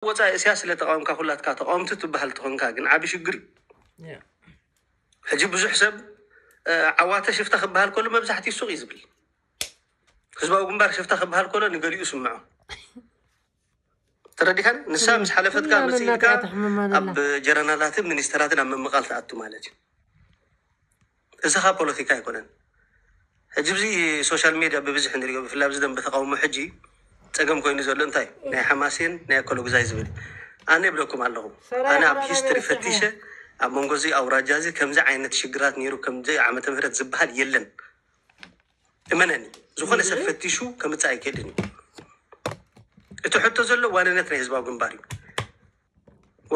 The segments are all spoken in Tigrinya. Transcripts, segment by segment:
ወፃኢ እስያ ስለ ተቃወምካ ኩላትካ ተቃወምቲ ትበሃል ትኾንካ ግን ዓቢ ሽግር እዩ። ሕጂ ብዙሕ ሰብ ዓዋተ ሽፍታ ክበሃል ከሎ መብዛሕትኡ ሱቕ እዩ ዝብል። ህዝባዊ ግንባር ሽፍታ ክበሃል ከሎ ንገሊኡ ስምዖ። ተረዲኻን? ንሳ ምስ ሓለፈትካ መፅኢልካ ኣብ ጀረናላትን ሚኒስተራትን ኣብ ምምቓል ትኣቱ ማለት እዩ። እዚ ካ ፖለቲካ ኣይኮነን። ሕጂ ብዚ ሶሻል ሜድያ ብብዝሒ ንሪኦ ብፍላይ ኣብዚ ደንበ ተቃውሞ ሕጂ ፀገም ኮይኑ ዘሎ እንታይ ናይ ሓማሴን ናይ ኣከለጉዛይ ዝብል ኣነ ይብለኩም ኣለኹ። ኣነ ኣብ ሂስትሪ ፈቲሸ ኣብ መንጎ እዚ ኣውራጃ እዚ ከምዚ ዓይነት ሽግራት ነይሩ ከምዚ ዓመተ ምህረት ዝበሃል የለን። እመነኒ ዝኾነ ሰብ ፈቲሹ ከምፅእ ኣይክእልን እዩ። እቲ ሕቶ ዘሎ ዋንነት ናይ ህዝባዊ ግንባር እዩ።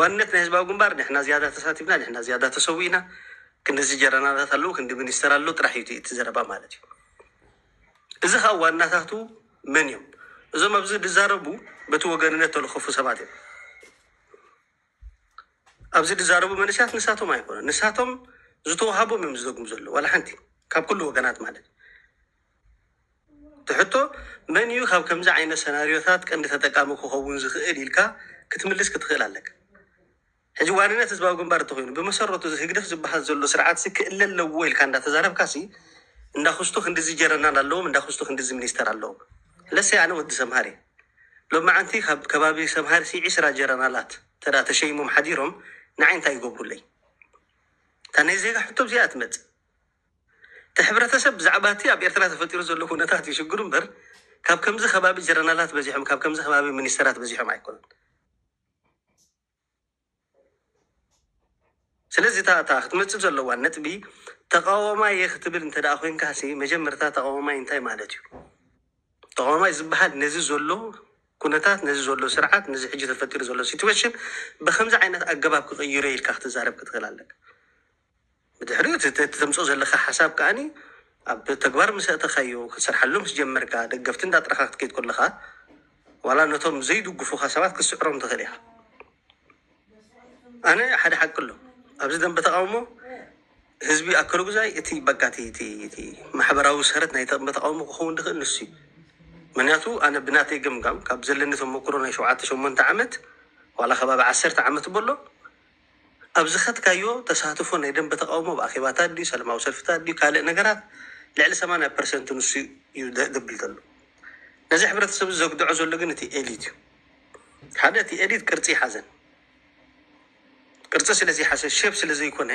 ዋንነት ናይ ህዝባዊ ግንባር ንሕና ዝያዳ ተሳቲፍና ንሕና ዝያዳ ተሰዊእና ክንድዚ ጀረናላት ኣለዉ ክንዲ ሚኒስተር ኣሎ ጥራሕ እዩ እቲ ዘረባ ማለት እዩ። እዚ ከዓ ዋናታቱ መን እዮም? እዞም ኣብዚ ዝዛረቡ በቲ ወገንነት ተለኸፉ ሰባት እዮም። ኣብዚ ዝዛረቡ መንእሰያት ንሳቶም ኣይኮነን ንሳቶም ዝተዋሃቦም እዮም ዝደግሙ ዘለዉ ዋላ ሓንቲ ካብ ኩሉ ወገናት ማለት ትሕቶ መን እዩ ካብ ከምዚ ዓይነት ሰናርዮታት ቀንዲ ተጠቃሚ ክኸውን ዝኽእል ኢልካ ክትምልስ ክትኽእል ኣለካ። ሕጂ ዋንነት ህዝባዊ ግንባር እንተኮይኑ ብመሰረቱ እዚ ህግደፍ ዝበሃል ዘሎ ስርዓት ሲ ክእለ ኣለዎ ኢልካ እንዳተዛረብካ ሲ እንዳክስቱ ክንድዚ ጀረናል ኣለዎም እንዳክስቱ ክንድዚ ሚኒስተር ኣለዎም። ለሰይ ኣነ ወዲ ሰምሃር እየ። ሎማዓንቲ ካብ ከባቢ ሰምሃር ሲ ዒስራ ጀረናላት ተዳ ተሸይሞም ሓዲሮም ንዓይ እንታይ ይገብሩለይ? እታ ናይ ዜጋ ሕቶ ብዚኣ ትመጽእ። እቲ ሕብረተሰብ ብዛዕባ እቲ ኣብ ኤርትራ ተፈጢሩ ዘሎ ኩነታት እዩ ሽግሩ እምበር ካብ ከምዚ ከባቢ ጀረናላት በዚሖም ካብ ከምዚ ከባቢ ሚኒስተራት በዚሖም ኣይኮነን። ስለዚ እታ እታ ክትመፅእ ዘለዋ ነጥቢ ተቃዋማይ እየ ክትብል እንተ ደኣ ኮይንካ ሲ መጀመርታ ተቃዋማይ እንታይ ማለት እዩ? ተቃዋማይ ዝበሃል ነዚ ዘሎ ኩነታት ነዚ ዘሎ ስርዓት ነዚ ሕጂ ተፈጢሩ ዘሎ ሲትዌሽን ብከምዚ ዓይነት ኣገባብ ክቅይሮ ኢልካ ክትዛረብ ክትኽእል ኣለካ። ብድሕሪኡ እቲ ተምፅኦ ዘለካ ሓሳብ ከዓኒ ኣብ ተግባር ምስ ኣእተካዮ ክትሰርሓሉ ምስ ጀመርካ ደገፍቲ እንዳጥረካ ክትከይድ ከለካ ዋላ ነቶም ዘይድግፉካ ሰባት ክትስዕሮም ትኽእል ኢካ። ኣነ ሓደ ሓቂ ኣሎ ኣብዚ ደንበ ተቃውሞ ህዝቢ ኣከለጉዛይ እቲ በቃ እቲ ማሕበራዊ ሰረት ናይ ደንበ ተቃውሞ ክኸውን ዝኽእል ንሱ እዩ። ምክንያቱ ኣነ ብናተይ ገምጋም ካብ ዘለኒ ተመክሮ ናይ ሸውዓተ ሸሞንተ ዓመት ዋላ ከባቢ ዓሰርተ ዓመት በሎ ኣብ ዝኸድካዮ ተሳትፎ ናይ ደንበ ተቃውሞ ብኣኼባታት ድዩ ሰላማዊ ሰልፍታት ድዩ ካልእ ነገራት ልዕሊ ሰማንያ ፐርሰንት ንሱ እዩ ዘብል ዘሎ። ነዚ ሕብረተሰብ ዘግድዖ ዘሎ ግን እቲ ኤሊት እዩ። ሓደ እቲ ኤሊት ቅርፂ ይሓዘን ቅርፂ ስለዘይሓዘ ሼፕ ስለዘይኮነ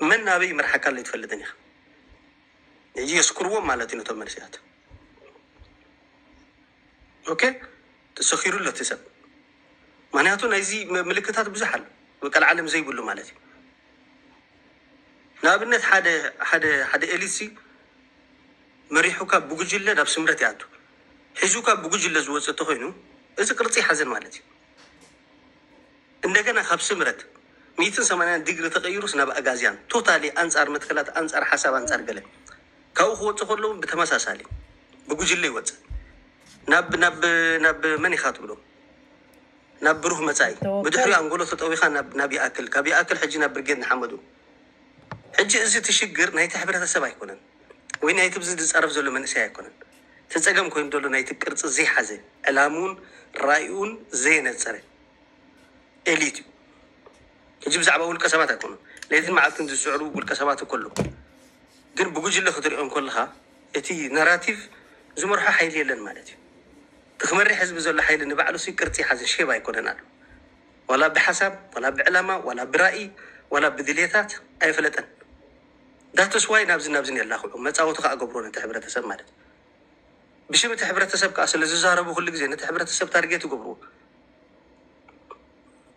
መን ናበይ ይመርሓካ ኣሎ ይትፈልጥን ኢኻ። ሕጂ የስክርዎም ማለት እዩ ነቶም መንእሰያት። ኦኬ ተሰኺሩ ኣሎ እቲ ሰብ ምክንያቱ ናይዚ ምልክታት ብዙሕ ኣሎ ቀልዓለም ዘይብሉ ማለት እዩ። ንኣብነት ሓደ ሓደ ሓደ ኤሊት ሲ መሪሑ ካብ ብጉጅለ ናብ ስምረት ይኣቱ ሒዙ ካብ ብጉጅለ ዝወፅእ ተኮይኑ እዚ ቅርፂ ይሓዘን ማለት እዩ። እንደገና ካብ ስምረት ሚእትን ሰማንያን ዲግሪ ተቀይሩስ ናብ ኣጋዝያን ቶታሊ ኣንፃር መትከላት ኣንፃር ሓሳብ ኣንፃር ገለ ካብኡ ክወፅእ ከለውን ብተመሳሳሊ ብጉጅለ ይወፅእ ናብ ናብ ናብ መን ኢካ ትብሎ ናብ ብሩህ መፃኢ ብድሕሪኡ ኣንጎሎ ተጠዊካ ናብ ይኣክል ካብ ይኣክል ሕጂ ናብ ብርጌድ ንሓመዱ ሕጂ እዚ እቲ ሽግር ናይቲ ሕብረተሰብ ኣይኮነን ወይ ናይቲ ብዚ ዝፃረፍ ዘሎ መንእሰይ ኣይኮነን እቲ ፀገም ኮይኑ ዘሎ ናይቲ ቅርፂ ዘይሓዘ ዕላምኡን ራእይኡን ዘየነፀረ ኤሊት እዩ። ሕጂ ብዛዕባ ውልቀ ሰባት ኣይኮኑ ለይትን መዓልትን ዝስዕሩ ውልቀ ሰባት እኮ ኣለዉ። ግን ብጉጅለ ክትሪኦ እንከለኻ እቲ ናራቲቭ ዝመርሖ ሓይሊ የለን ማለት እዩ። እቲ ክመርሕ ህዝቢ ዘሎ ሓይሊ ንባዕሉ ሲ ቅርፂ ሓዘ ሼብ ኣይኮነን ኣሎ ዋላ ብሓሳብ ዋላ ብዕላማ ዋላ ብራእይ ዋላ ብድሌታት ኣይፈለጠን። ዳትስ ዋይ ናብዚ ናብዝን የላኽዑ መፃወቲ ከዓ ገብሮ ነቲ ሕብረተሰብ ማለት ብሽም እቲ ሕብረተሰብ ከዓ ስለ ዝዛረቡ ኩሉ ግዜ ነቲ ሕብረተሰብ ታርጌት ይገብርዎ።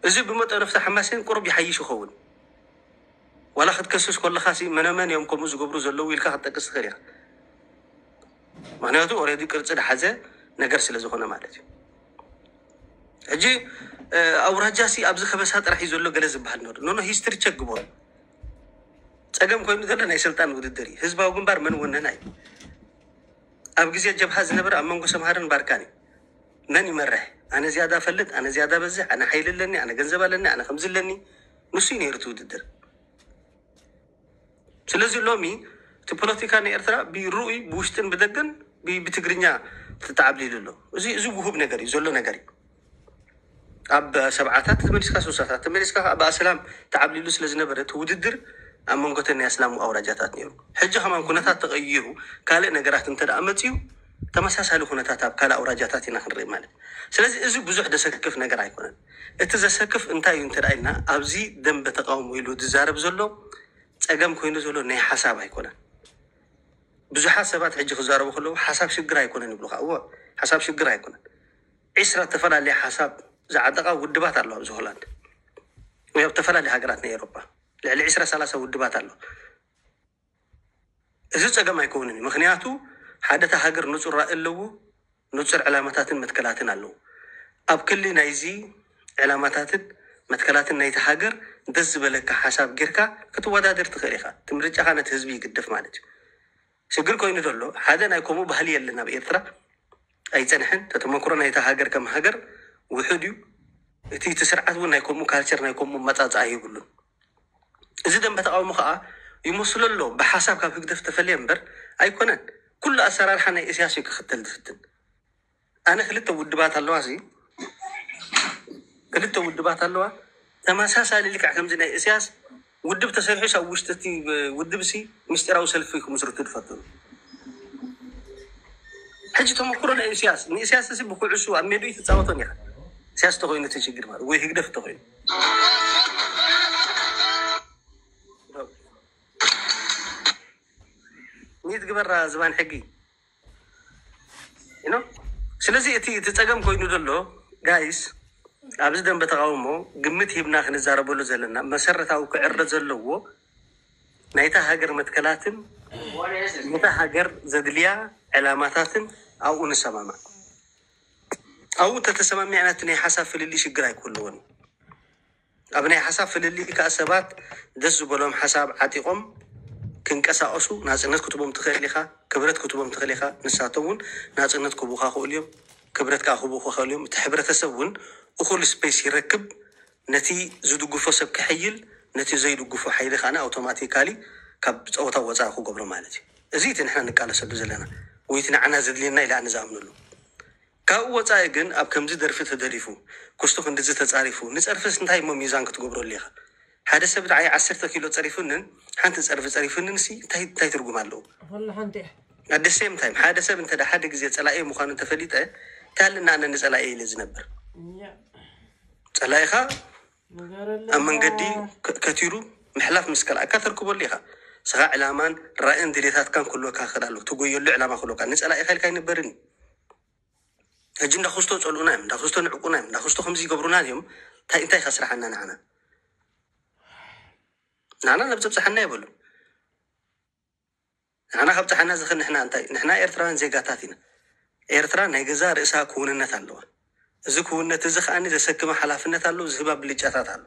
እዚ ብመጠኑ ፍታ ሓማሴን ቁሩብ ይሓይሽ ይኸውን ዋላ ክትከስስ ከለካ ሲ መነመን እዮም ከምኡ ዝገብሩ ዘለዉ ኢልካ ክትጠቅስ ትኽእል ኢኻ። ምክንያቱ ኦረዲ ቅርፂ ዝሓዘ ነገር ስለ ዝኾነ ማለት እዩ። ሕጂ ኣውራጃ ሲ ኣብዚ ከበሳ ጥራሕ እዩ ዘሎ ገለ ዝበሃል ነሩ ኖኖ ሂስትሪ ቸክ ግበሩ። ፀገም ኮይኑ ዘሎ ናይ ስልጣን ውድድር እዩ። ህዝባዊ ግንባር መን ወነና እዩ። ኣብ ግዜ ጀብሃ ዝነበረ ኣብ መንጎ ሰምሃርን ባርካን እዩ። መን ይመርሕ? ኣነ ዝያዳ ፈልጥ፣ ኣነ ዝያዳ በዝሕ፣ ኣነ ሓይሊ ኣለኒ፣ ኣነ ገንዘብ ኣለኒ፣ ኣነ ከምዚ ኣለኒ። ንሱ እዩ ነይሩ እቲ ውድድር። ስለዚ ሎሚ እቲ ፖለቲካ ናይ ኤርትራ ብርኡይ ብውሽጥን ብደገን ብትግርኛ ተተዓብሊሉ ኣሎ። እዚ እዚ ውሁብ ነገር እዩ ዘሎ ነገር እዩ። ኣብ ሰብዓታት ተመሊስካ፣ ስሳታት ተመሊስካ ከዓ ብኣስላም ተዓብሊሉ ስለ ዝነበረ፣ እቲ ውድድር ኣብ መንጎተን ናይ ኣስላም ኣውራጃታት ነይሩ። ሕጂ ከማን ኩነታት ተቐይሩ፣ ካልእ ነገራት እንተ ደኣ መፅዩ፣ ተመሳሳሊ ኩነታት ኣብ ካልእ ኣውራጃታት ኢና ክንርኢ ማለት እዩ። ስለዚ እዚ ብዙሕ ዘሰክፍ ነገር ኣይኮነን። እቲ ዘሰክፍ እንታይ እዩ እንተ ደኣ ኢልና፣ ኣብዚ ደንበ ተቃውሞ ኢሉ ዝዛረብ ዘሎ ፀገም ኮይኑ ዘሎ ናይ ሓሳብ ኣይኮነን። ብዙሓት ሰባት ሕጂ ክዛረቡ ከለዉ ሓሳብ ሽግር ኣይኮነን ይብሉኻ። እዎ፣ ሓሳብ ሽግር ኣይኮነን። ዒስራ ዝተፈላለየ ሓሳብ ዝዓጠቓ ውድባት ኣለዋ ኣብዚ ሆላንድ ወይ ኣብ ዝተፈላለየ ሃገራት ናይ ኤውሮጳ ልዕሊ ዒስራ ሰላሳ ውድባት ኣሎ። እዚ ፀገም ኣይከውንን እዩ። ምክንያቱ ሓደ እታ ሃገር ንፁር ራኢ ኣለዎ፣ ንፁር ዕላማታትን መትከላትን ኣለዎ። ኣብ ክሊ ናይዚ ዕላማታትን መትከላትን ናይቲ ሃገር ደስ ዝበለካ ሓሳብ ጌርካ ክትወዳደር ትኽእል ኢኻ። እቲ ምርጫኻ ነቲ ህዝቢ ይግደፍ ማለት እዩ። ሽግር ኮይኑ ዘሎ ሓደ ናይ ከምኡ ባህሊ የለን ኣብ ኤርትራ፣ ኣይጸንሐን። ተተመክሮ ናይታ ሃገር ከም ሃገር ውሑድ እዩ። እቲ እቲ ስርዓት እውን ናይ ከምኡ ካልቸር ናይ ከምኡ መጻጽኣ የብሉን። እዚ ደንበ ተቃውሞ ከዓ ይመስሎ ኣሎ ብሓሳብ ካብ ህግደፍ ተፈልየ እምበር ኣይኮነን። ኩሉ ኣሰራርሓ ናይ እስያስ እዩ ክኽተል ዝፍትን። ኣነ ክልተ ውድባት ኣለዋ ሲ ክልተ ውድባት ኣለዋ ተመሳሳሊ ልክዕ ከምዚ ናይ እስያስ ውድብ ተሰሪሑ ሲ ኣብ ውሽጢ እቲ ውድብ ሲ ምስጢራዊ ሰልፊ ክምስርቱ ዝፈትኑ። ሕጂ ተመክሮ ናይ እስያስ ንእስያስ ሲ ብኩዕሱ ኣብ ሜድኡ ትፃወቶን ኢኻ። እስያስ ተኮይኑ እቲ ችግር ማለት ወይ ህግደፍ ተኮይኑ ሚት ግበራ ዝባን ሕጊ you know? ስለዚ እቲ እቲ ፀገም ኮይኑ ዘሎ ጋይስ ኣብዚ ደንበ ተቃውሞ ግምት ሂብና ክንዛረበሉ ዘለና መሰረታዊ ክዕረ ዘለዎ ናይታ ሃገር መትከላትን ነታ ሃገር ዘድልያ ዕላማታትን ኣብኡ ንሰማማዕ። ኣብኡ ተተሰማሚዕና እቲ ናይ ሓሳብ ፍልልይ ሽግር ኣይክህልዎን እዩ። ኣብ ናይ ሓሳብ ፍልልይ ከዓ ሰባት ደስ ዝበሎም ሓሳብ ዓጢቖም ክንቀሳቐሱ ናፅነት ክትቦም ትኽእል ኢኻ፣ ክብረት ክትቦም ትኽእል ኢኻ። ንሳቶም እውን ናፅነት ክቡኻ ክእሉ እዮም፣ ክብረት ከዓ ክቡኻ ክእሉ እዮም። እቲ ሕብረተሰብ እውን እኹል ስፔስ ይረክብ፣ ነቲ ዝድግፎ ሰብ ክሕይል፣ ነቲ ዘይድግፎ ሓይሊ ከዓ ኣውቶማቲካሊ ካብ ፀወታ ወፃኢ ክገብሮ ማለት እዩ። እዚ እቲ ንሕና ንቃለሰሉ ዘለና ወይ እቲ ንዓና ዘድልየና ኢለ ኣነ ዝኣምነሉ። ካብኡ ወፃኢ ግን ኣብ ከምዚ ደርፊ ተደሪፉ ክስቶ ክንድዚ ተፃሪፉ ንፀርፍስ እንታይ እሞ ሚዛን ክትገብረሉ ኢኻ? ሓደ ሰብ ንዓይ ዓሰርተ ኪሎ ፀሪፉንን ሓንቲ ፀርፊ ፀሪፉንን ሲ እንታይ እንታይ ትርጉም ኣለዎ? ኩሉ ሓንቲ እያ። At the same time ሓደ ሰብ እንተ ሓደ ግዜ ፀላኢ ምዃኑ እንተፈሊጠ እንታይ ኣለና ኣነ ንፀላኢ ኢለ ዝነብር? እያ። ፀላኢኻ ንገረለይ። ኣብ መንገዲ ከ- ከቲሩ ምሕላፍ ምስ ከልኣካ ተርክበሉ ኢኻ። ስኻ ዕላማን ራእን ድሌታትካን ክህልወካ ክኽእል ኣለዎ። ትጎየሉ ዕላማ ክህልወካ። ንፀላኢኻ ኢልካ ኣይንበርን እዩ። ሕጂ እንዳ ክስቶ ፀልኡና እዮም፣ እንዳ ክስቶ ንዕቁና እዮም፣ እንዳ ክስቶ ከምዚ ይገብሩና እዮም። እንታይ እንታይ ከስርሓና ንዓና? ንዓና ናብ ዘብፅሓና የብሉ። ንዓና ካብ ፀሓና ዝኽእል ንሕና እንታይ? ንሕና ኤርትራውያን ዜጋታት ኢና። ኤርትራ ናይ ገዛ ርእሳ ክውንነት ኣለዋ። እዚ ክውንነት እዚ ከኣ ዘሰክማ ሓላፍነት ኣሎ፣ ዝህባ ብልጫታት ኣሎ።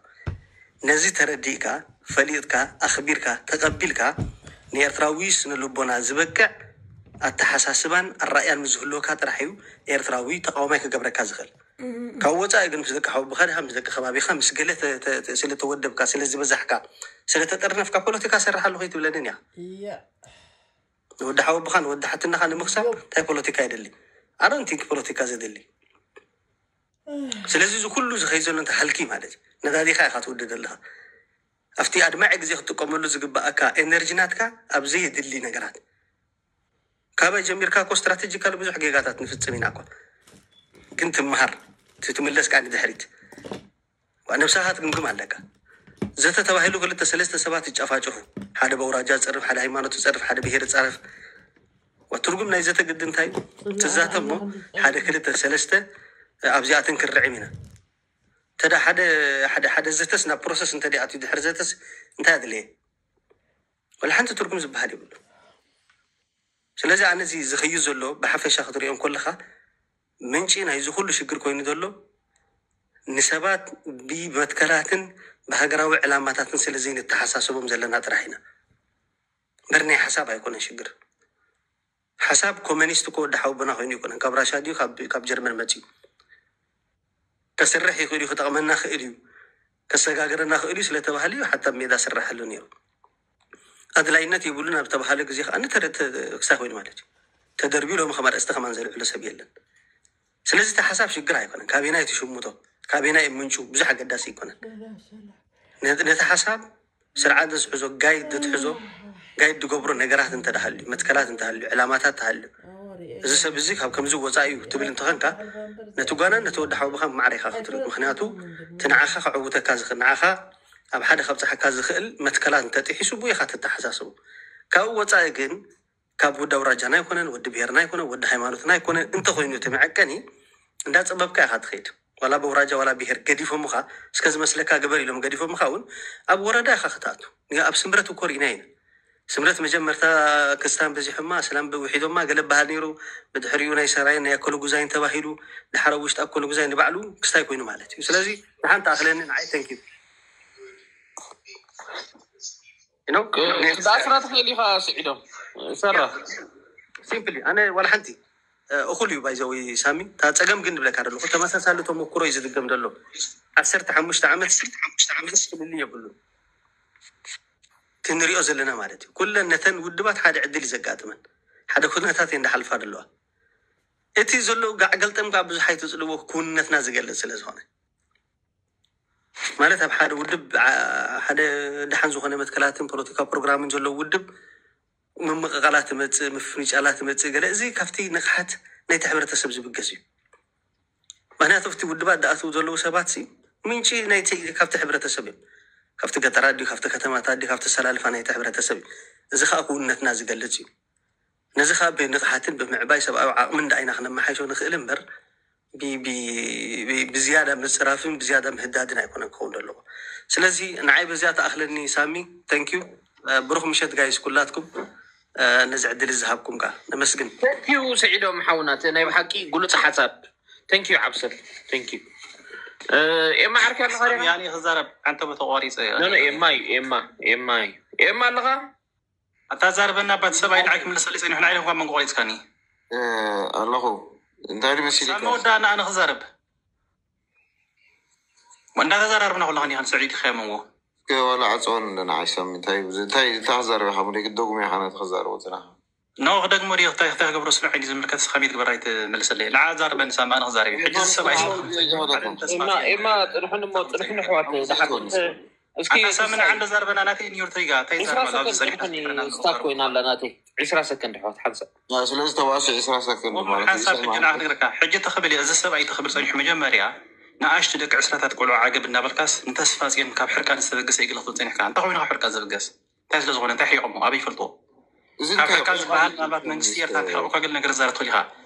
ነዚ ተረዲእካ፣ ፈሊጥካ፣ ኣኽቢርካ፣ ተቐቢልካ ንኤርትራዊ ስነ ልቦና ዝበቅዕ ኣተሓሳስባን ኣራእያን ምስ ዝህልወካ ጥራሕ እዩ ኤርትራዊ ተቃዋማይ ክገብረካ ዝኽእል። ካብ ወፃኢ ግን ምስ ደቂ ሓወቦኻ ዲኻ ምስ ደቂ ከባቢኻ ምስ ገለ ተ- ተ- ተ- ስለ ተወደብካ ስለ ዝበዛሕካ ስለ ተጠርነፍካ ፖለቲካ ሰርሕ ኣለኹ ኣይትብለንን እያ። እያ። ንወዲ ሓወቦኻ ንወዲ ሓትናኻ ንምኽሳብ እንታይ ፖለቲካ የደሊ? ኣረንቲ ፖለቲካ ዘደሊ። ስለዚ እዚ ኩሉ ዝኸይ ዘሎ እንታይ ሃልኪ ማለት እዩ። ነዳዲኻ ኢኻ ትውድድ ኣለኻ። ኣብቲ ኣድማዒ ግዜ ክትጥቀመሉ ዝግባኣካ ኤነርጂ ናትካ ኣብ ዘየድሊ ነገራት ካባይ ጀሚርካ እኮ ስትራቴጂካሊ ብዙሕ ጌጋታት ንፍፅም ኢና እኮ። ግን ትምሃር ትትምለስ ከዓ ንድሕሪት ነብሳኻ ትግምግም ኣለካ። ዘተ ተባሂሉ ክልተ ሰለስተ ሰባት ይጨፋጨፉ። ሓደ በውራጃ ዝፀርፍ፣ ሓደ ሃይማኖት ዝፀርፍ፣ ሓደ ብሄር ዝፀርፍ። ትርጉም ናይ ዘተ ግዲ እንታይ? ትዛተ እሞ ሓደ ክልተ ሰለስተ ኣብዚኣተን ክንርዕም ኢና። ተዳ ሓደ ሓደ ሓደ ዘተስ ናብ ፕሮሰስ እንተ ኣትዩ ድሕሪ ዘተስ እንታይ ኣድለየ? ወላ ሓንቲ ትርጉም ዝበሃል የብሉ። ስለዚ ኣነ እዚ ዝኸዩ ዘሎ ብሓፈሻ ክትሪኦ እንከለኻ ምንጪ ናይዚ ኩሉ ሽግር ኮይኑ ዘሎ ንሰባት ብመትከላትን ብሃገራዊ ዕላማታትን ስለ ዘይንተሓሳሰቦም ዘለና ጥራሕ ኢና እምበር ናይ ሓሳብ ኣይኮነን ሽግር። ሓሳብ ኮመኒስት እኮ ወዲ ሓውቦና ኮይኑ ይኮነን ካብ ራሻ ድዩ ካብ ጀርመን መፅዩ ከስርሕ ይኽእል እዩ ክጠቕመና ክእል እዩ ከሰጋግረና ክእል እዩ ስለተባህለ እዩ ሓታ ሜዳ ስራሐሉ ነይሩ። ኣድላይነት የብሉን ኣብ ተባሃለ ግዜ ከዓ ክሳይ ኮይኑ ማለት እዩ ተደርቢዩ ሎሚ ከም ኣርእስቲ ከማን ዘልዕሎ ሰብ የለን። ስለዚ እቲ ሓሳብ ሽግር ኣይኮነን ካበና እዩ ትሽምቶ ካበየናይ ምንጩ ብዙሕ ኣገዳሲ ኣይኮነን። ነቲ ሓሳብ ስርዓት ዝሕዞ፣ ጋይድ ዝትሕዞ፣ ጋይድ ዝገብሮ ነገራት እንተደሃልዩ፣ መትከላት እንተሃልዩ፣ ዕላማታት ተሃልዩ፣ እዚ ሰብ እዚ ካብ ከምዚ ወፃኢ እዩ ትብል እንተኾንካ፣ ነቲ ጓና ነቲ ወዲ ሓወቦኻ ማዕረ ኢኻ ክትርኢ። ምክንያቱ እቲ ንዓኻ ከዕውተካ ዝኽእል፣ ንዓኻ ኣብ ሓደ ከብፅሓካ ዝኽእል መትከላት እንተጥሒሱ ብኡ ኢኻ ትተሓሳስቡ። ካብኡ ወፃኢ ግን ካብ ወዲ ኣውራጃና ኣይኮነን፣ ወዲ ብሄርና ኣይኮነን፣ ወዲ ሃይማኖትና ኣይኮነን እንተኾይኑ እቲ መዐቀኒ እንዳፀበብካ ኢኻ ትኸይድ። ዋላ ብኣውራጃ ዋላ ብሄር ገዲፎምኻ፣ እስከ ዝመስለካ ግበር ኢሎም ገዲፎምኻ እውን ኣብ ወረዳ ኢኻ ክትኣቱ። ኣብ ስምረት እኮ ርኢና ኢና። ስምረት መጀመርታ ክስታን በዚሖማ፣ እስላም ውሒዶማ ገለ በሃል ነይሩ። ብድሕሪኡ ናይ ሰራይን ናይ ኣኮለጉዛይን ተባሂሉ፣ ድሓር ኣብ ውሽጢ ኣኮለጉዛይ ንባዕሉ ክስታይ ኮይኑ ማለት እዩ። ስለዚ ንሓንቲ ኣኽለኒ ንዓይ። Thank you። ክትኣስራ ትኽእል ኢኻ። ስዒዶም ሰራ ሲምፕሊ ኣነ ዋላ ሓንቲ እኹል እዩ ባይዘዊ ሳሚ። እታ ፀገም ግን ንብለካ ዘለኹ ተመሳሳሊ ተመኩሮ እዩ ዝድገም ዘሎ። ዓሰርተ ሓሙሽተ ዓመት ዓመት ፍልልይ የብሉ ክንሪኦ ዘለና ማለት እዩ። ኩለን ነተን ውድባት ሓደ ዕድል እዩ ዘጋጥመን፣ ሓደ ኩነታት እየን ዝሓልፋ ዘለዋ። እቲ ዘሎ ጋዕ ገልጠም ከዓ ብዙሕ ኣይትፅልዎ፣ ክውንነትና ዝገልፅ ስለ ዝኾነ ማለት ኣብ ሓደ ውድብ ሓደ ደሓን ዝኾነ መትከላትን ፖለቲካ ፕሮግራምን ዘለዎ ውድብ ምምቕቓላት ትመፅእ፣ ምፍንጫላት ትመፅእ፣ ገለ እዚ ካብቲ ንቕሓት ናይቲ ሕብረተሰብ ዝብገስ እዩ። ምክንያቱ ኣብቲ ውድባት ዝኣትዉ ዘለዉ ሰባት ሲ ምንጪ ናይቲ ካብቲ ሕብረተሰብ እዮም። ካብቲ ገጠራት ድዩ፣ ካብቲ ከተማታት ድዩ፣ ካብቲ ኣሰላልፋ ናይቲ ሕብረተሰብ እዩ። እዚ ከዓ ክውንነትና ዝገልፅ እዩ። ነዚ ከዓ ብንቕሓትን ብምዕባይ ሰብኣዊ ዓቕምን ደኣ ኢና ክነመሓይሾ ንኽእል እምበር ብ- ብ- ብ- ብዝያዳ ምፅራፍን ብዝያዳ ምህዳድን ኣይኮነን ክኸውን ዘለዎ። ስለዚ ንዓይ በዚኣ ተኣኽለኒ ሳሚ። Thank you። ብሩኽ ምሸት ጋይስ ኩላትኩም። ነዚ ዕድል ዝሃብኩም ከዓ ነመስግን። Thank you ስዒዶም ሓውና፣ እቲ ናይ ብሓቂ ግሉፅ ሓሳብ። Thank you ዓብሰል። Thank you። ኤማ ዓርኪ ኣለኻ ዲኻ? ያኔ ክዛረብ ሓንተ ተቋሪፀ ኖ ኖ ኤማ እዩ፣ ኤማ ኤማ እዩ። ኤማ ኣለኻ? ኣታ ዛርበና ባት ሰብኣይ ንዓይ ክምልሰለይ ፀኒሑ ንዓይ እኳ መንጎ ቆሪፅካኒ። ኣለኹ። እንታይ ድመሲል ሳሚ ወዳ ንኣነ ክዛረብ እንዳተዘራርብና ኩሉ ከኒ ከንስዒድ ይኸምዎ እስከ ዋላ ዓፀወን ኣለና ዓይሳሚ እንታይ እንታይ እንታይ ክዛረብ ኢኻ ሙደ ግደጉም ኢኻ ነቲ ክዛረቦ ዝናኻ ኖ ክደግሞ ድዩ ክታይ ክታይ ክገብሮ ስለ ዓይዲ ዝምልከት ስኻ ቤት ግበር ኣይትመልሰለይ ንዓ ዛርበን ሳሚ ኣነ ክዛረብ እዩ ሕጂ ዝሰብ ኣይሰ ኤማ ኤማ ፅንሑን እሞ ፅንሑን ኣሕዋት ዝሓት እስኪ ኣታ ሳሚ ንዓ እንደ ዛርበና ናተይ ኒውር ትሪጋ እንታይ ዒስራ ዛርበና ኣብዚ ሰከንድ ጸኒሕና ትኾኒ ትፍረና ስታክ ኮይና ኣላ ናተይ ዒስራ ሰከንድ ኣሕዋት ሓንሳእ ስለዚ ተዋስዕ ዒስራ ሰከንድ ማለት እዩ ሓንሳብ ሕጂ ሰማዕ ንዓ ክነግረካ ሕጂ ተኽብል እየ እዚ ሰብኣይ ተኽብል ጸኒሑ መጀመርያ ንኣሽቱ ደቂ ዕስራታት ቆልዑ ዓገብ እናበልካስ ንተስፋ ጽዮን ካብ ሕርቃን ዝተበገሰ ኢግለ ክትብል ጸኒሕካ እንታይ ኮይኑ ካብ ሕርቃን ዝበገስ እንታይ ስለ ዝኾነ እንታይ ሕይቆሞ ኣበይ ይፈልጥዎ እዚ ካብ እንታይ ሕርቃን ዝበሃል ምናልባት መንግስቲ ኤርትራ ተሕቆካ ገለ ነገር ዛረብ ትኽእል ኢኻ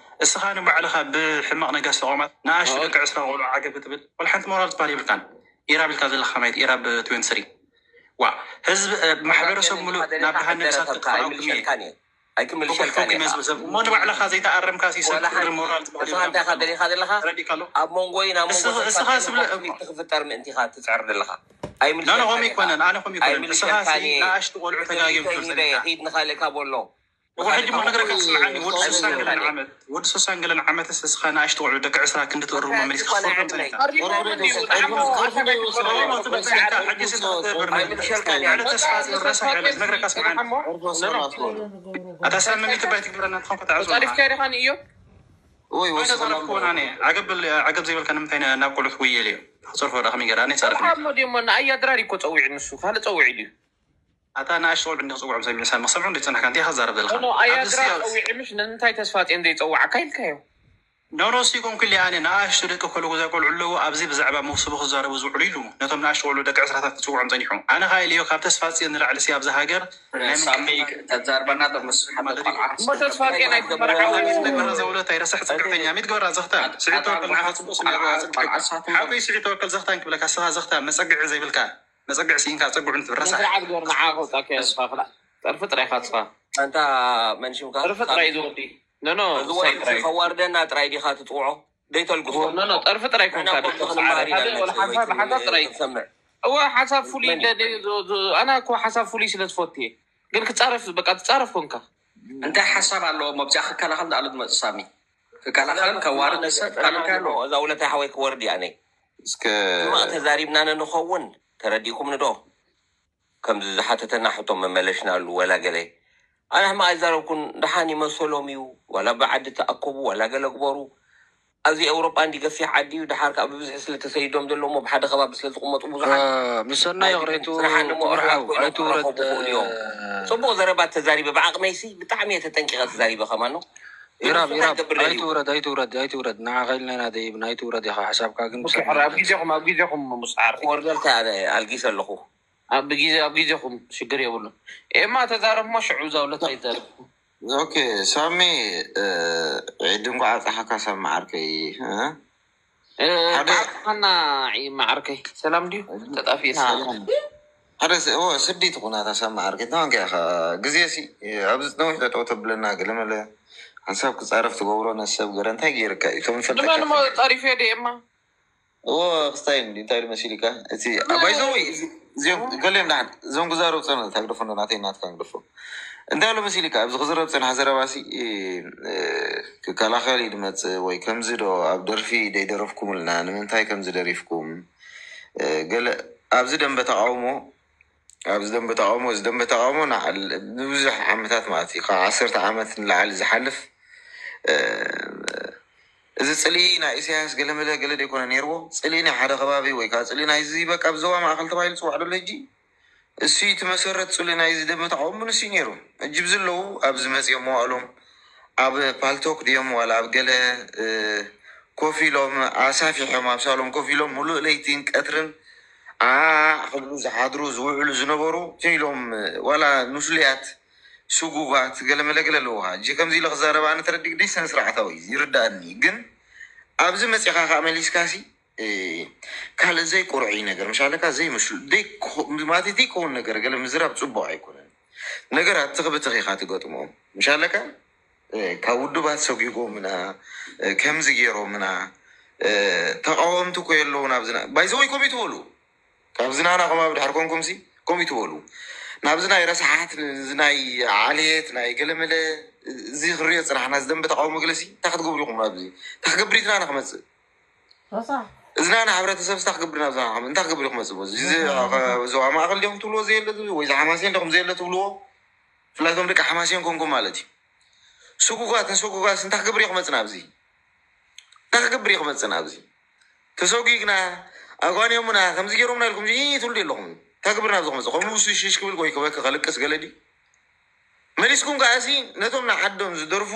እስኻ ንባዕልኻ ብሕማቕ ነጋሲ ተቋማት ንኣሽቱ ደቂ ዕስራ ቆልዑ ዓገብ ክትብል ወላ ሓንቲ ሞራል ዝበሃል የብልካን ኢራ ቢልካ ዘለካ ማየት ኢራ ብ ትዌንቲ ስሪ ዋ ህዝብ ማሕበረሰብ ሙሉእ ናብ ደሃነ ክሳብ ክትኸላው ክምየ ኣይክምልሸልካን እየ። እሞ ንባዕልኻ ዘይተኣረምካ ሲሰብ ወላ ሓንቲ ሞራል ዝበሃል ንስኻ እንታይ ኢኻ ደሊኻ ዘለኻ ተረዲእካ ኣሎ ኣብ መንጎይ ናብ መንጎ ንስኻ- ንስኻ ተፋልጥ ስብለ- ኮንፍሊክት ክፍጠር ምእንቲ ኢኻ ትፅዕር ዘለኻ። ኖ ኖ ከምኡ ኣይምልሸልካን ይኮነን ኣነ ከምኡ ይኮነን ንስኻ ኣይምልሸልካን እየ። ንኣሽቱ ቆልዑ ተጋጊዮም ትብል ጸኒሕካ ሂድ ንኻልእካ በሎ። እኮ ሕጂ ሞ ክነግረካ ስምዓኒ ወዲ ሱሳን ገለን ዓመት ወዲ ሱሳን ገለን ዓመት እስኻ ንኣሽቱ ቆልዑ ደቂ ዕስራ ክንዲ ትእርሞ መሊስካ ክትፈርዶም ጸኒሕካ ሕጂ ኣይምልሸልካን እየ። ተስፋ ዝረሳሕ ነግረካ ስምዓኒ ኣታ ሳሚ ሚትባይ ትግበረና ትኾን ከተዓዞ ጸሪፍካ ዲኻ ንእዮ ወይ ወሰላም ተዛረብኩ ኣነ ዓገብ ዓገብ ዘይበልካ ንምንታይ ናብ ቆልዑ ትውየል እዩ ተፀርፎ ዳ ከመይ ገራ ኣነ ይፀርፍ ካብ ሞዲሞ ንኣያ ድራር እኮ ፀዊዑ ንሱ ካልእ ፀዊዑ ድዩ ኣታ ንኣሽቱ ቆልዑ እንዲ ክፅውዖም ሰሚዑ ሳሚ ክሰምዑ እንዲ ፅናሕካ እንታይ ክዛረብ ዘለካ ኖ ኣያ ኣብዚ ድራር ያው- ፀዊዑ ምሽ ንምንታይ ተስፋ ፂን ዘይፀዋዕካ ኢልካዮ ኖ ኖ ሲ ኮንኩ ኢለ ኣነ ንኣሽቱ ደቂ ኮለጎዛ ቆልዑ ኣለዉ ኣብዚ ብዛዕባ መውስቡ ክዛረቡ ዝውዕሉ ኢሉ ነቶም ንኣሽቱ ቆልዑ ደቂ ዕስራታት ክፅውዖም ፀኒሑ ኣነ ከዓ ኢለዮ ካብ ተስፋ ፅን ንላዕሊ ሲ ኣብዚ ሃገር ናይ ሳሚ ተዛርበና ምስ ሓደ ቆልዓ እሞ ተስፋ ፂን ኣይትመርዓው ሚት ግበራ ዘውለታ ይረሳሕ ፅግዕተኛ ሚት ግበራ ዘኽታ ስዒድ ተወከል ንዓኻ ፅቡቅ ስሚዕዋ ፅግዕተኛ ሓቁይ ስዒድ ተወከል ዘኽታን ክብለካ ስኻ ዘኽታ መፀግዒ ዘይብልካ መፀግዒ ስኢንካ ፀጉዑ ንትብል ረሳሕ ስርዓት ግበር ንዓ ከውፃካ እየ ንስኻ ክላ ጠርፊ ጥራይ ኢኻ ንስኻ ኣንታ መንሽምካ ጠርፊ ጥራይ እዩ ዝወዲ ኖ ኖ እዚ ወዲ እዚ ከዋርደና ጥራይ ዲኻ ትፅውዖ? ደይተልግሶ ኖ ኖ ጠርፊ ጥራይ ኮንካ ንሕና እኮ ክንማሃር ኢና ሓደ ወላ ሓንሳብ ሓንሳብ ጥራይ ክንሰምዕ። እወ ሓሳብ ፍሉይ እንደ- ዝ- ዝ- ኣና እኮ ሓሳብ ፍሉይ ስለ ዝፈቱ እየ ግን ክፃረፍ በቃ ትፃረፍ ኮንካ እንታይ ሓሳብ ኣለዎ መብዚኣ ክከላኸል ንኣሉ ዝመፅእ ሳሚ ክከላኸልን ከዋርድ ሰብ ካልእ እንታይ ኣለዎ እዛ ውለታይ ሓወይ ክወርድ እያ ነይ እስከ ሕማቕ ተዛሪብና ንንኸውን ተረዲእኩም ንዶ ከምዚ ዝሓተተና ሕቶ መመለሽናሉ ወላ ገለ ኣነ ሕማቕ ኣይዛረብኩን ደሓን ይመሰሎም እዩ ዋላ ብዓዲ ተኣከቡ ዋላ ገለ ግበሩ ኣብዚ ኤውሮጳ እንዲ ገፊሕ ዓዲ እዩ። ድሓር ከዓ ብብዝሒ ስለ ተሰይዶም ዘለዎም ኣብ ሓደ ከባቢ ስለ ዝቕመጡ ብዙሓት ምሰና ይቕሬቱ ስራሓ ንምዕራብ ኮይኖም ኣይትውረድ ክረኸቡ ይኽእሉ እዮም። ጽቡቕ ዘረባ ተዛሪበ። ብዓቕመይሲ ብጣዕሚ እየ ተጠንቂቐ ተዛሪበ ከማን ነው። ኢራብ ንሱ ኢራብ እንታይ ገብር ደልዩ? ኣይትውረድ ኣይትውረድ ኣይትውረድ ንዓኻ ኢልና ኢና ደይብና ኣይትውረድ ኢኻ ሓሳብካ ግን ኦኬ፣ ሕራ፣ ኣብ ግዜኹም ኣብ ግዜኹም ሙስዓር ክወርደልካ ኣነ ኣልጊሰ ኣለኹ። ኣብ ግዜ ኣብ ግዜኹም ሽግር የብሉን። ኤማ ተዛረብሞ ሽዑ ዛውለት ኣይዛረብ ኦኬ ሳሚ ዒድ እንኳ ኣብፀሓካ ሳሚ ዓርከይ እ? ሓደ- ሓና ማዓርከይ ሰላም ድዩ? ተጣፊእና ሓደ ስ- እዎ፣ ስዲ ትኹናታ ሳሚ ዓርከይ ተማንከ ኢኻ ግዜ ሲ ኣብዚ ነዊሕ ጠጠው ተብለና ገለመለ ሓንሳብ ክፃረፍ ትገብሮ ነሰብ ገረ እንታይ ገይርካ እዩ ከም ድማ ንሞ ጠሪፈ ደ ኤማ እዎ ክስታይ እንዲ እንታይ ኢሉ መሲልካ እቲ ባይዘወይ ገሊኦም ዳ እዞም ክዛረብ ፀነ ታግደፎ እንዶ ናተይ ናትካ ግደፎ እንታይ ኢሉ መሲልካ ኣብዚ ክዝረብ ፀንሓ ዘረባሲ ክከላኸል እዩ ድመፅእ ወይ ከምዚ ዶ ኣብ ደርፊ ደይደረፍኩምልና ንምንታይ ከምዚ ደሪፍኩም ገለ ኣብዚ ደንበ ተቃውሞ ኣብዚ ደንበ ተቃውሞ እዚ ደንበ ተቃውሞ ንብዙሕ ዓመታት ማለት እዩ ካብ ዓሰርተ ዓመት ንላዕሊ ዝሓልፍ እዚ ፅልኢ ናይ ኢሳያስ ገለመለ ገለ ደይኮነ ነይርዎ ፅልኢ ናይ ሓደ ከባቢ ወይ ከዓ ፅልኢ ናይ እዚ በቃ ብዞባ ማእኸል ተባሂሉ ፅዋዕ ደሎ ሕጂ እሱ እቲ መሰረት ፅልኢ ናይ እዚ ደንበ ተቃውሞ ንሱ ነይሩ ሕጂ ብዚ ኣለዉ ኣብዚ መፂኦም መዋእሎም ኣብ ፓልቶክ ድዮም ዋላ ኣብ ገለ ኮፍ ኢሎም ኣሳፊሖም ኣብ ሳሎም ኮፍ ኢሎም ሙሉእ ለይቲን ቀትርን ዓዕ ክብሉ ዝሓድሩ ዝውዕሉ ዝነበሩ ኢሎም ዋላ ንስሉያት ስጉጋት ገለመለ ገለ ኣለዎ እጂ ከምዚ ኢለ ክዛረብ ኣነ ተረዲእ ግዲ ሰን ስርዓታዊ ይርዳእኒ ግን ኣብዚ መፂኻ ከዓ መሊስካሲ ካልእ ዘይቁርዒ ነገር ምሻለካ ዘይምሹ ማለት ዘይከውን ነገር ገለ ምዝራብ ፅቡቅ ኣይኮነን ነገራት ትኽብትኽ ኢኻ ትገጥሞም ምሻለካ ካብ ውድባት ሰጒጎምና ከምዚ ገይሮምና ተቃወምቲ እኮ የለውን ኣብዚ ባይዘወይ ኮም ይትበሉ ካብዚ ናና ከም ኣብ ድሕር ኮንኩም ሲ ከም ይትበሉ ናብዚ ናይ ረስሓት እዚ ናይ ዓሌት ናይ ገለመለ እዚ ክሪኦ ፅናሕና ዝደንበ ተቃውሞ ገለሲ እንታይ ክትገብሩ ኢኹም ናብዚ እንታይ ክገብር ኢትና ንክመፅእ እዚ ናና ሕብረተሰብ ስታ ክገብር ናብዚ እንታይ ክገብር ኢኹም መፅእ እዚ ዞባ ማእኸል ዲኹም ትብልዎ ዘየለ ወይ ዝሓማሴን ዲኹም ዘየለ ትብልዎ ብፍላይ ቶም ደቂ ሓማሴን ኮንኩም ማለት እዩ ስጉጓት ንስጉጓት እንታይ ክገብር ኢኹም መፅእ ናብዚ እንታይ ክገብር ኢኹም መፅእ ናብዚ ተሰጒግና ኣጓንዮምና ከምዚ ገይሮምና ኢልኩም ትብሉ ኣለኹም እንታይ ክብር ናብዚ ክመፅእ ከምኡ ውሱ ሽሽ ክብል ወይ ክበክ ከልቅስ ገለ ድዩ መሊስኩም ከዓሲ ነቶም ንዓዶም ዝደርፉ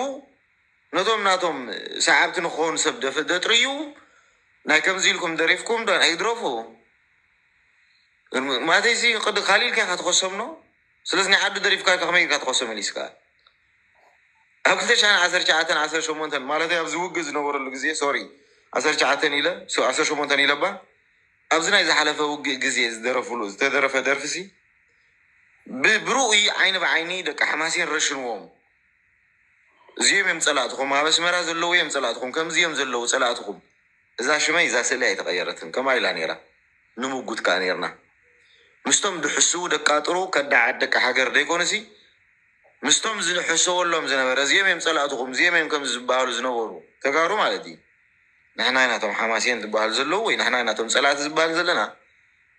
ነቶም ናቶም ሰዓብቲ ንክኾኑ ሰብ ደጥርዩ ናይ ከምዚ ኢልኩም ደሪፍኩም ዶ ኣይድረፉ ማለተይሲ ቅዲ ካሊእ ኢልካ ኢካ ትኸሶም ኖ ስለዚ ናይ ዓዱ ደሪፍካ ከመይ ኢልካ ትኸሶ መሊስካ ኣብ ክልተ ሽሕን ዓሰርተ ትሽዓተን ዓሰርተ ሸሞንተን ማለት ኣብዚ ውግእ ዝነበረሉ ግዜ ሶሪ ዓሰርተ ትሽዓተን ኢለ ዓሰርተ ሸሞንተን ኢለባ ኣብዚ ናይ ዝሓለፈ ውግእ ግዜ ዝደረፍሉ ዝተደረፈ ደርፍሲ ብብርኡይ ዓይኒ ብዓይኒ ደቂ ሓማሴን ረሽንዎም እዚኦም እዮም ፀላእትኹም ኣብ ኣስመራ ዘለዉ እዮም ፀላእትኹም ከምዚ እዮም ዘለዉ ፀላእትኹም እዛ ሽመይ እዛ ስእሊ ኣይተቐየረትን ከምኣ ኢላ ነይራ ንምጉት ከዓ ነይርና ምስቶም ድሕስዉ ደቃጥሩ ከዳዓት ደቂ ሃገር ደይኮኑሲ ምስቶም ዝሕሰወሎም ዝነበረ እዚኦም እዮም ፀላእትኹም እዚኦም እዮም ከምዚ ዝበሃሉ ዝነበሩ ተጋሩ ማለት እዩ ንሕና ኢና ቶም ሓማሴን ዝበሃሉ ዘለዉ ወይ ንሕና ኢና ቶም ፀላእቲ ዝበሃሉ ዘለና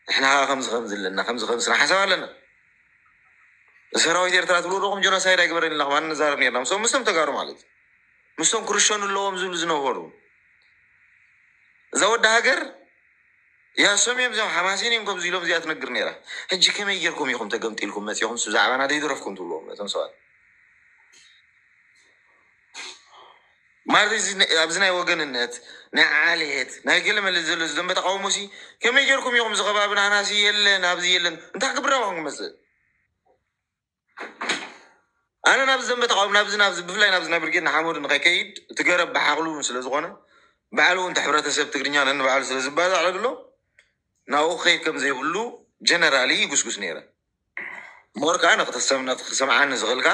ንሕና ከዓ ከምዚ ከምዚ ኣለና ከምዚ ከምዚ ሓሳብ ኣለና ሰራዊት ኤርትራ ትብሉ ዶኹም ጀኖሳይድ ኣይግበረን ኢልና ከማን ንዛረብ ነርና ምስቶም ምስቶም ተጋሩ ማለት እዩ ምስቶም ክርሸኑ ኣለዎም ዝብሉ ዝነበሩ እዛ ወዲ ሃገር ያ እሶም እዮም እዚኦም ሓማሴን እዮም ከምዚ ኢሎም እዚኣ ትነግር ነይራ ሕጂ ከመይ ጌርኩም ኢኹም ተገምጢልኩም መፂኹም ብዛዕባና ደይደረፍኩም ትብልዎም እቶም ሰባት ማለት ኣብዚ ናይ ወገንነት ናይ ዓሌት ናይ ገለ መለ ዘሎ ዝደንበ ተቃውሞ ሲ ከመይ ጌርኩም ኢኹም እዚ ከባቢ ናህናሲ የለን ኣብዚ የለን እንታይ ክብር ኣባኹም ክመፅእ ኣነ ናብዚ ዘንበ ተቃውሞ ናብዚ ናብዚ ብፍላይ ናብዚ ናይ ብርጌድ ንሓመዱ ንከይከይድ እቲ ገረብ ብሓክሉ እውን ስለ ዝኾነ ባዕሉ እውን ሕብረተሰብ ትግርኛ ነንባዕሉ ስለ ዝባዛዕ ኣሎ ናብኡ ክኸይድ ከም ዘይብሉ ጀነራሊ ይጉስጉስ ነይረ ሞር ከዓ ንክተሰምና ክሰምዓኒ ዝኽእልካ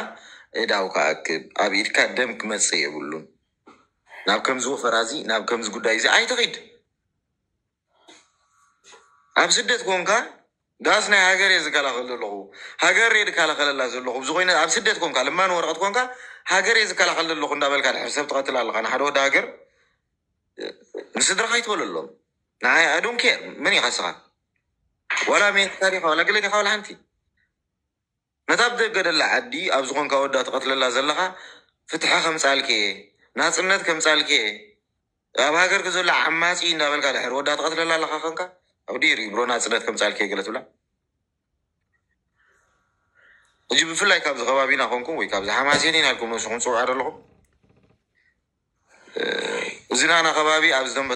እዳው ክኣክብ ኣብ ኢድካ ደም ክመፅእ የብሉን ናብ ከምዚ ወፈራ እዚ ናብ ከምዚ ጉዳይ እዚ ኣይትኺድ ኣብ ስደት ኮንካ ዳስ ናይ ሃገር እየ ዝከላኸል ዘለኹ ሃገር እየ ዝከላኸለላ ዘለኹ ብዝኮይነ ኣብ ስደት ኮንካ ለማኒ ወረቀት ኮንካ ሃገር እየ ዝከላኸል ዘለኹ እንዳበልካ ድሕር ሰብ ትቐትል ኣለካ ንሓደ ወዲ ሃገር ንስድራኻ ይትበለሎም ንዓይ ኣዶን ኬር መን ኢኻ ስኻ ዋላ ኣሜሪካ ዲኻ ዋላ ገለ ዲኻ ዋላ ሓንቲ ነታ ኣብ ደገ ደላ ዓዲ ኣብ ዝኾንካ ወዳ ትቐትለላ ዘለኻ ፍትሒ ከምጻልኪ እየ ናጽነት ከምጻልኪ እየ ኣብ ሃገርኪ ዘሎ ዓማፂ እንዳበልካ ድሕር ወዳ ትቐትለላ ኣለኻ ኸንካ ኣብ ዲር ብሮ ናፅነት ከምፃልከ ገለ ትብላ። እጂ ብፍላይ ካብዚ ከባቢና ኮንኩም ወይ ካብዚ ሓማሴን ኢና ኢልኩም ንስኹም ፅውዓ ኣለኹም። እዚ ናና ከባቢ ኣብ ዝደንበ